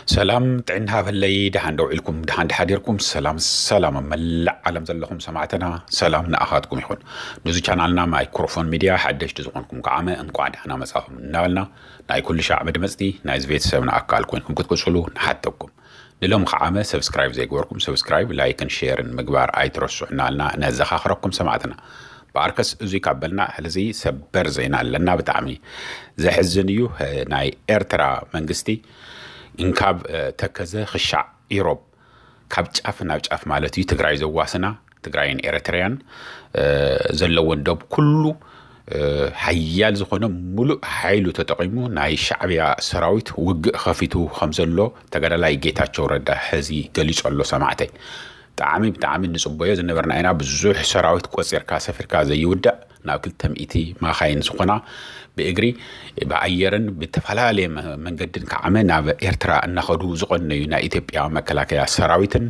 ሰላም ጥዕና ሃበለይ፣ ደሓን ዶ ውዒልኩም? ደሓን ድሓዲርኩም? ሰላም ሰላም ኣብ መላእ ዓለም ዘለኹም ሰማዕትና፣ ሰላም ንኣኻትኩም ይኹን። ነዚ ቻናልና ማይክሮፎን ሚድያ ሓደሽቲ ዝኾንኩም ከዓመ እንቋዕ ደሓና መጻኹም እናበልና፣ ናይ ኩሉ ሻዕ መድመጽቲ ናይዚ ቤተሰብና ኣካል ኮይንኩም ክትቅጽሉ ንሓተኩም። ንሎም ከዓመ ሰብስክራይብ ዘይገበርኩም ሰብስክራይብ፣ ላይክን ሼርን ምግባር ኣይትረስዑ እናበልና ነዘኻኽረኩም ሰማዕትና። ብኣርከስ እዙይ ካብ በልና ሕዚ ሰበር ዜና ኣለና። ብጣዕሚ ዘሕዝን እዩ። ናይ ኤርትራ መንግስቲ እንካብ ተከዘ ክሻዕ ኢሮብ፣ ካብ ጫፍ ናብ ጫፍ ማለት እዩ፣ ትግራይ ዘዋስና ትግራይን ኤርትራያን ዘለወን ዶብ ኩሉ ሓያል ዝኾነ ሙሉእ ሓይሉ ተጠቒሙ ናይ ሻዕብያ ሰራዊት ውግእ ኸፊቱ ከም ዘሎ ተጋዳላይ ጌታቸው ረዳ ሕዚ ገሊጹ ኣሎ ሰማዕተይ። ብጣዕሚ ብጣዕሚ ንጽበዮ ዝነበርና ኢና። ብዙሕ ሰራዊት ቆጺርካ ሰፊርካ ዘይውዳእ፣ ናብ ክልተ ሚእቲ ማኻይን ዝኾና ብእግሪ ብኣየርን ብተፈላለየ መንገድን ከዓመ ናብ ኤርትራ እናኸዱ ዝቐነዩ ናይ ኢትዮጵያ መከላከያ ሰራዊትን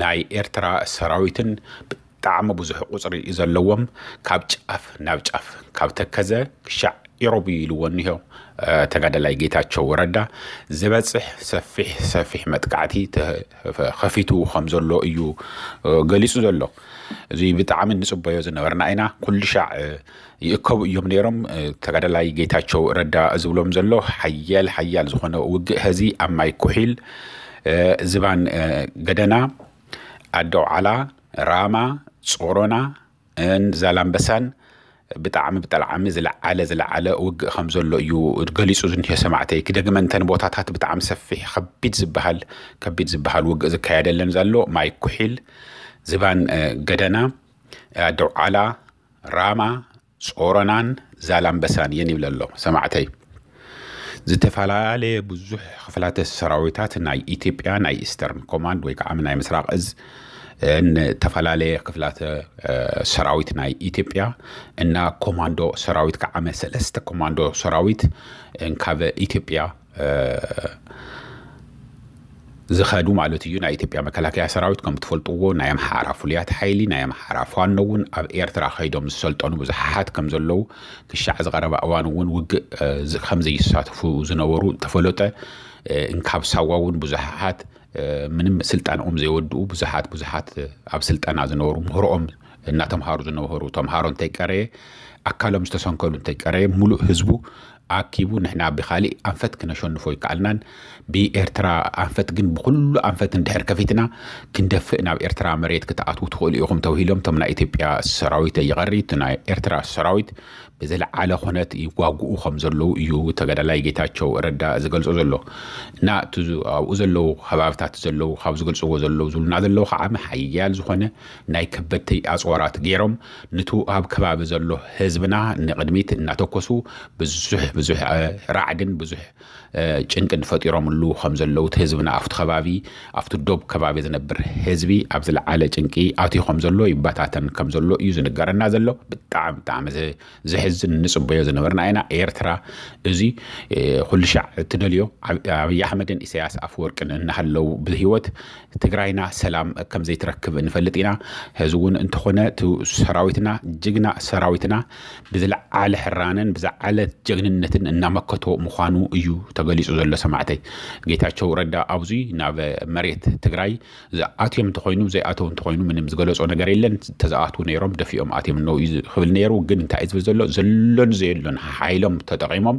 ናይ ኤርትራ ሰራዊትን ብጣዕሚ ብዙሕ ቁፅሪ ዘለዎም፣ ካብ ጫፍ ናብ ጫፍ፣ ካብ ተከዘ ክሻዕ ኢሮብ ኢልዎ እኒሆ ተጋዳላይ ጌታቸው ረዳ ዝበፅሕ ሰፊሕ ሰፊሕ መጥቃዕቲ ከፊቱ ከም ዘሎ እዩ ገሊፁ ዘሎ። እዚ ብጣዕሚ ንፅበዮ ዝነበርና ኢና። ኩሉ ሻዕ ይእከቡ እዮም ነይሮም። ተጋዳላይ ጌታቸው ረዳ ዝብሎም ዘሎ ሓያል ሓያል ዝኾነ ውግእ ሀዚ ኣብ ማይ ኩሒል፣ ዝባን ገደና፣ ኣዶ ዓላ፣ ራማ፣ ጾሮና፣ ን ዛላምበሳን ብጣዕሚ ብጠልዓሚ ዝለዓለ ዝለዓለ ውግእ ከም ዘሎ እዩ ገሊፁ ዝንሄ ሰማዕተይ። ክደግመ እንተን ቦታታት ብጣዕሚ ሰፊሕ ከቢድ ዝበሃል ከቢድ ዝበሃል ውግእ ዝካየደለን ዘሎ ማይ ኩሒል፣ ዝባን ገደና፣ ኣደውዓላ፣ ራማ፣ ጾሮናን ዛላምበሳን እየን ይብል ኣሎ ሰማዕተይ። ዝተፈላለየ ብዙሕ ክፍላተ ሰራዊታት ናይ ኢትዮጵያ ናይ ኢስተርን ኮማንድ ወይ ከዓ ናይ ምስራቅ እዝ፣ ዝተፈላለየ ክፍላተ ሰራዊት ናይ ኢትዮጵያ እና ኮማንዶ ሰራዊት ከዓመ ሰለስተ ኮማንዶ ሰራዊት እንካበ ኢትዮጵያ ዝኸዱ ማለት እዩ። ናይ ኢትዮጵያ መከላከያ ሰራዊት ከም ትፈልጥዎ ናይ ኣምሓራ ፍሉያት ሓይሊ፣ ናይ ኣምሓራ ፋኖ እውን ኣብ ኤርትራ ከይዶም ዝሰልጠኑ ብዙሓት ከም ዘለዉ ክሻዕ ዝቐረበ እዋን እውን ውግእ ከም ዘይሳተፉ ዝነበሩ ተፈለጠ። እንካብ ሳዋ እውን ብዙሓት ምንም ስልጠናኦም ዘይወድኡ ብዙሓት ብዙሓት ኣብ ስልጠና ዝነበሩ ምህሮኦም እናተምሃሩ ዝነበሩ ተምሃሮ እንተይቀረየ ኣካሎም ዝተሰንከሉ እንተይቀረየ ሙሉእ ህዝቡ ኣኪቡ ንሕና ብካሊእ ኣንፈት ክነሸንፎ ይከኣልናን ብኤርትራ ኣንፈት ግን ብኩሉ ኣንፈት እንድሕር ከፊትና ክንደፍእ ናብ ኤርትራ መሬት ክትኣትዉ ትኽእሉ ኢኹም ተባሂሎም እቶም ናይ ኢትዮጵያ ሰራዊት ይቐሪ እቲ ናይ ኤርትራ ሰራዊት ብዝለዓለ ኩነት ይዋግኡ ከም ዘለዉ እዩ ተጋዳላይ ጌታቸው ረዳ ዝገልጾ ዘሎ። እና ኣብኡ ዘለዉ ከባብታት ዘለዉ ካብ ዝገልጽዎ ዘለዉ ዝብሉና ዘለዉ ከዓ ሓያል ዝኾነ ናይ ከበድቲ ኣፅዋራት ገይሮም ንቱ ኣብ ከባቢ ዘሎ ህዝብና ንቕድሚት እናተኮሱ ብዙሕ ብዙሕ ራዕድን ብዙሕ ጭንቅን ፈጢሮምሉ ከም ዘለዉ እቲ ህዝብና ኣብቲ ከባቢ ኣብቲ ዶብ ከባቢ ዝነብር ህዝቢ ኣብ ዝለዓለ ጭንቂ ኣትዩ ከም ዘሎ ይበታተን ከም ዘሎ እዩ ዝንገረና ዘሎ። ብጣዕሚ ብጣዕሚ ዘሕዝን ንፅበዮ ዝነበርና ኢና። ኤርትራ እዚ ኩሉ ሻዕ እትደልዮ ኣብይ ኣሕመድን ኢሳያስ ኣፍወርቅን እናሃለዉ ብህይወት ትግራይና ሰላም ከም ዘይትረክብ ንፈልጥ ኢና። ሕዚ እውን እንተኾነ እቲ ሰራዊትና ጅግና ሰራዊትና ብዝለዓለ ሕራነን ብዝዓለ ጀግንነትን እናመከቶ ምዃኑ እዩ ተገሊፁ ዘሎ ሰማዕተይ። ጌታቸው ረዳ ኣብዚ ናብ መሬት ትግራይ ኣትዮም እንተኾይኑ ዘይኣተው እንተኾይኑ ምንም ዝገለጾ ነገር የለን። ተዝኣትዉ ነይሮም ደፊኦም ኣትዮም ነው እዩ ክብል ነይሩ። ግን እንታይ እዩ ዝብል ዘሎ ዘሎን ዘየሎን ሓይሎም ተጠቒሞም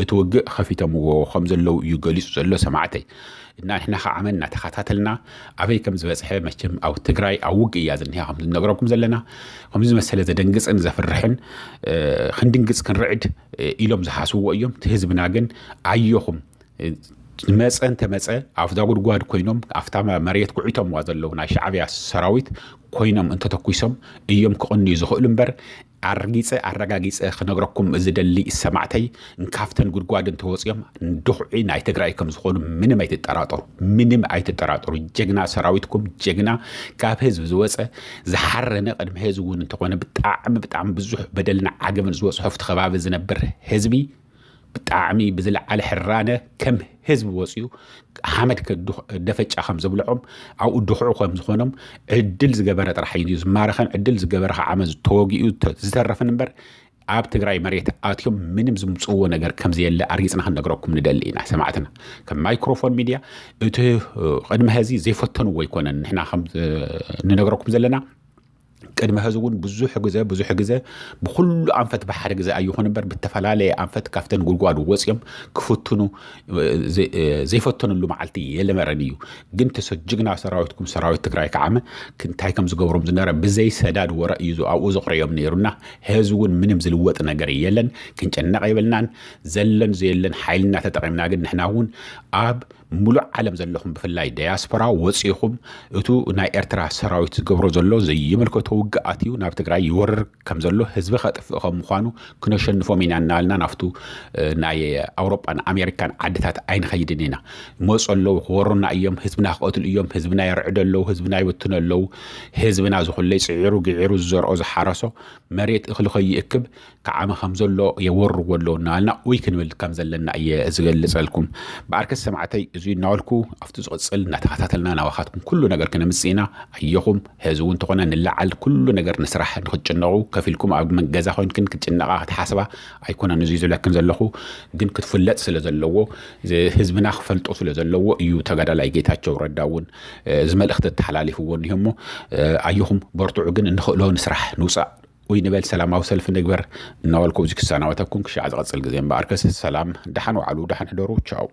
እቲ ውግእ ከፊቶምዎ ከም ዘለዉ እዩ ገሊፁ ዘሎ ሰማዕተይ። እና ንሕና ከዓ መን እናተኸታተልና ኣበይ ከም ዝበፅሐ መቸም ኣብ ትግራይ ኣብ ውግእ እያ ዝኒሃ ከም ዝነግረኩም ዘለና። ከምዚ ዝመሰለ ዘደንግፅን ዘፍርሕን ክንድንግፅ ክንርዕድ ኢሎም ዝሓስብዎ እዮም። እቲ ህዝብና ግን ኣየኹም መፀ እንተመፀ ኣብዛ ጉድጓድ ኮይኖም ኣብታ መሬት ኩዒቶምዋ ዘለዉ ናይ ሻዕብያ ሰራዊት ኮይኖም እንተተኩሶም እዮም ክቕንዩ ዝኽእሉ እምበር ኣርጊፀ ኣረጋጊፀ ክነግረኩም ዝደሊ ሰማዕተይ እንካፍተን ጉድጓድ እንተወፅኦም ድኹዒ ናይ ትግራይ ከም ዝኾኑ ምንም ኣይትጠራጠሩ። ምንም ኣይትጠራጠሩ። ጀግና ሰራዊትኩም ጀግና ካብ ህዝቢ ዝወፀ ዝሓረነ ቅድሚ ህዝቢ እውን እንተኾነ ብጣዕሚ ብጣዕሚ ብዙሕ በደልና ዓገብን ዝበፅሖ ኣብቲ ከባቢ ዝነብር ህዝቢ ብጣዕሚ ብዝለዓለ ሕራነ ከም ህዝቢ ወፅዩ ሓመድ ደፈጫ ከም ዘብልዖም ኣብኡ ድኹዑ ከም ዝኾኖም ዕድል ዝገበረ ጥራሕ እዩ ዝማረኸን ዕድል ዝገበረ ከዓ ዓመት ተወጊኡ ዝተረፈን እምበር ኣብ ትግራይ መሬት ኣትዮም ምንም ዝምፅዎ ነገር ከምዘየለ ኣርጊፅና ክንነግረኩም ንደሊ ኢና ሰማዕትና። ከም ማይክሮፎን ሚድያ እቲ ቅድሚ ሕዚ ዘይፈተንዎ ኣይኮነን። ንሕና ከም ንነግረኩም ዘለና ቅድሚ ሕዚ እውን ብዙሕ ግዜ ብዙሕ ግዜ ብኩሉ ኣንፈት ብሓደ ግዜ ኣይኹን እምበር ብተፈላለየ ኣንፈት ካብተን ጉድጓድ ወፅዮም ክፍትኑ ዘይፈተንሉ መዓልቲ የለመረን እዩ። ግን ተሰጅግና ሰራዊትኩም ሰራዊት ትግራይ ከዓመ እንታይ ከም ዝገብሮም ዝነበረ ብዘይ ሰዳድ ወረ እዩ ኣብኡ ዘቕረዮም ነይሩና። ሕዚ እውን ምንም ዝልወጥ ነገር የለን። ክንጨነቕ የብልናን። ዘለን ዘየለን ሓይልና ተጠቒምና ግን ንሕና እውን ኣብ ሙሉእ ዓለም ዘለኹም ብፍላይ ዳያስፖራ ወፂኹም እቱ ናይ ኤርትራ ሰራዊት ዝገብሮ ዘሎ ዘይምልከቶ ውግኣት እዩ። ናብ ትግራይ ይወርር ከም ዘሎ ህዝቢ ከጥፍእ ከም ምዃኑ ክነሸንፎም ኢና እናበልና ናብቱ ናይ ኣውሮጳን ኣሜሪካን ዓድታት ኣይንኸይድን ኢና። ይመፁ ኣለዉ ክወሩና እዮም። ህዝብና ክቐትሉ እዮም። ህዝብና የርዕዱ ኣለዉ። ህዝብና ይብትኑ ኣለዉ። ህዝብና ዝኹለይ ፅዒሩ ግዒሩ ዝዘርኦ ዝሓረሶ መሬት እኽሊ ከይእክብ ክዓመ ከም ዘሎ የወርዎ ኣለዉ እናበልና ኡይ ክንብል ከም ዘለና እየ ዝገልፀልኩም። ብኣርከስ ሰማዕተይ እዙ እናበልኩ ኣብቲ ዝቕፅል እናተኸታተልና ናባኻትኩም ኩሉ ነገር ክነምፅእ ኢና። ኣየኹም ሕዚ እውን እንተኾነ ንላዓል ኩሉ ነገር ንስራሕ ንክትጭነቑ ከፊልኩም ኣብ ገዛ ኮይንክን ክትጭነቓ ክትሓስባ ኣይኮነን። እዙ ዝብለክን ዘለኹ ግን ክትፍለጥ ስለ ዘለዎ ህዝብና ክፈልጦ ስለ ዘለዎ እዩ ተጋዳላይ ጌታቸው ረዳ እውን እዚ መልእኽቲ ተሓላሊፍዎ እኒሆ እሞ ኣየኹም በርትዑ ግን እንኽእሎ ንስራሕ ንውፃእ ወይ ንበል ሰላማዊ ሰልፊ ንግበር እናበልኩ እዚ ክሰናበተኩም ክሻዕ ዝቐፅል ግዜ እምበኣርከስ ሰላም ደሓን ዋዕሉ ደሓን ሕደሩ ቻው።